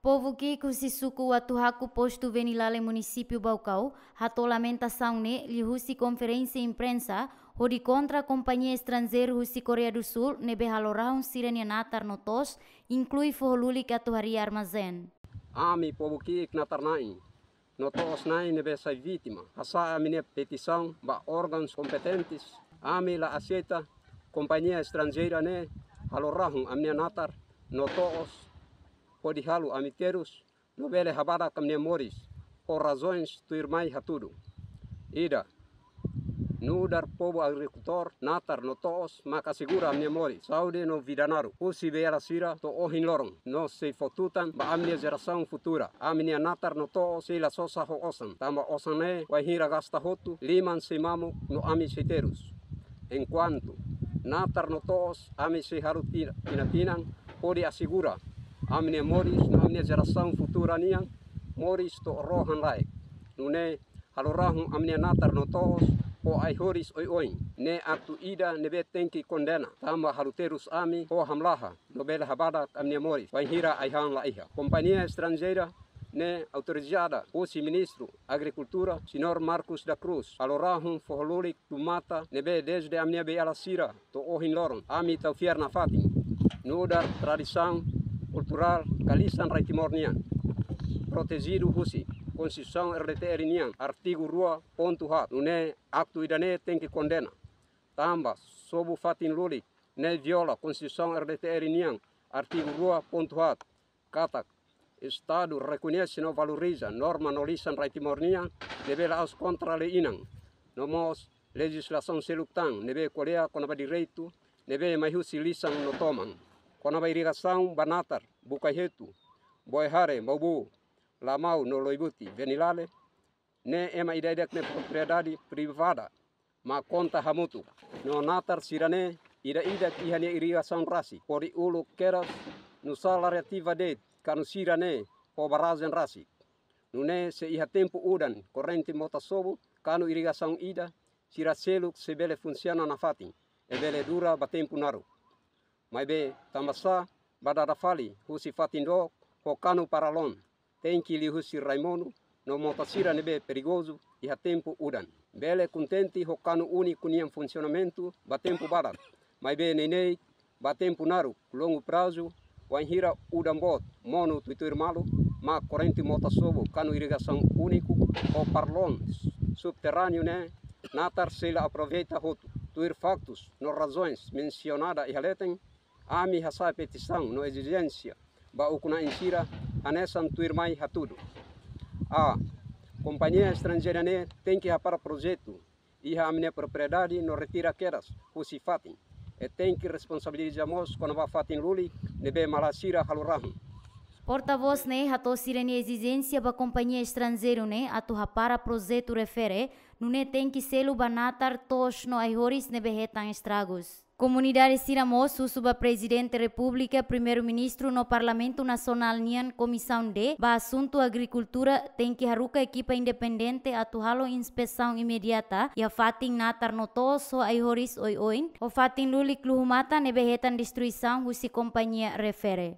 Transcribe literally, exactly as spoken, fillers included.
Povu ki'ik husi suku Uatuhaku, postu Venilale, munisípiu Baucau, hato'o lamentasaun ne'e liuhusi konferénsia imprensa hodi kontra kompañia estranjeiru husi Koreia do Sul ne'ebé halo rahun sira-nia natar no to'os, inklui foho lulik atu harii armazén. Ami povu ki'ik natar-na'in no to'os-na'in ne'ebé sai vítima hasa'e ami-nia petisaun ba órgaun kompetentes. Ami la aseita kompañia estranjeira ne'e halo rahun ami-nia natar no to'os hodi halo ami terus no bele habadak ami-nia moris, ho razaun tuirmai hatudu. Ida, nu'udar povu agrikultór, natar no to'os maka asegura ami-nia moris, saúde no vida naruk husi beiala sira to'o ohin loron, no sei fó tutan ba ami-nia jerasaun futura. Ami-nia natar no to'os sei la sosa ho osan, tanba osan ne'e wainhira gasta hotu, liman sei mamuk no ami sei terus. Enkuantu natar no to'os, ami sei halo ti-, tinan-tinan hodi asegura ami-nia moris no ami-nia jerasaun futura nian moris to'o rohan-laek. Nune'e halo rahun ami-nia natar no to'os ho ai-horis oioin ne'e aktu ida ne'ebé tenke kondena, tanba halo terus ami ho hamlaha no bele habadak ami-nia moris wainhira ai-han la iha. Kompañia estranjeira ne'e autorizada husi Ministru Agrikultura, Señór Marcos da Cruz, halo rahun foho lulik tuir mata ne'ebé dezde ami-nia beiala sira to'o ohin loron ami tau fiar nafatin, nu'udar tradisaun kulturál ka lisan rai Timor nian, protejidu husi Konstituisaun R D T R nian artigu rua pontu haat. Nune'e aktu ida-ne'e tenke kondena, tanba sobu fatin lulik ne'e viola Konstituisaun R D T R nian artigu rua pontu haat, katak Estadu rekoñese no valoriza norma no lisan rai Timor nian ne'ebé la'ós kontra lei inan, no mós lejizlasaun seluk tan ne'ebé ko'alia kona-ba direitu ne'ebé mai husi lisan no toman. Kona-ba irrigasaun ba natar Bucaihetu, Boehare, Maubu, Lamau no Loibuti, Venilale, ne'e ema ida-idak nia propriedade privada, mak konta hamutuk. No natar sira-ne'e ida-idak iha nia irrigasaun rasik, hodi uluk kedas no sala reativa de'it kanu sira-ne'e ho barrajen rasik. Nune'e se iha tempu udan, korrente mota sobu, kanu irrigasaun ida, sira seluk sei bele funsiona nafatin, i bele dura ba tempu naruk. Maibé tanbasá ba dada fali husi fatin dook ho kanu paralon, tenke liuhusi rai monu no mota sira ne'ebé perigozu iha tempu udan. Bele kontente ho kanu úniku nian funsionamentu ba tempu badak, maibé neineik ba tempu naruk, longu prazu, wainhira udan boot monu tuituir malu, mak korrente mota sobu, kanu irrigasaun úniku ho paralon subterráneu ne'e, natar sei la aproveita hotu. Tuir faktus no razaun mensionadu iha leten, ami hasa'e petisaun no ezijénsia ba ukun-na'in sira hanesan tuirmai hatudu. A. Kompañia estranjeira ne'e tenke hapara projetu iha ami-nia propriedade no retira kedas husi fatin. I tenke responsabiliza mós kona-ba fatin lulik ne'ebé malae sira halo rahun. Portavós ne'e hato'o sira-nia ezijénsia ba kompañia estranjeiru ne'e atu hapara projetu refere, nune'e tenke selu ba natar, to'os no ai-horis ne'ebé hetan estragus. Komunidade sira mós husu ba Prezidente Repúblika, Primeiru-Ministru no Parlamentu Nasionál nian Komisaun D ba asuntu agrikultura tenke haruka ekipa independente atu halo inspesaun imediata iha fatin natar no to'os ho ai-horis oioin, ho fatin lulik luhu-matan ne'ebé hetan destruisaun husi kompañia refere.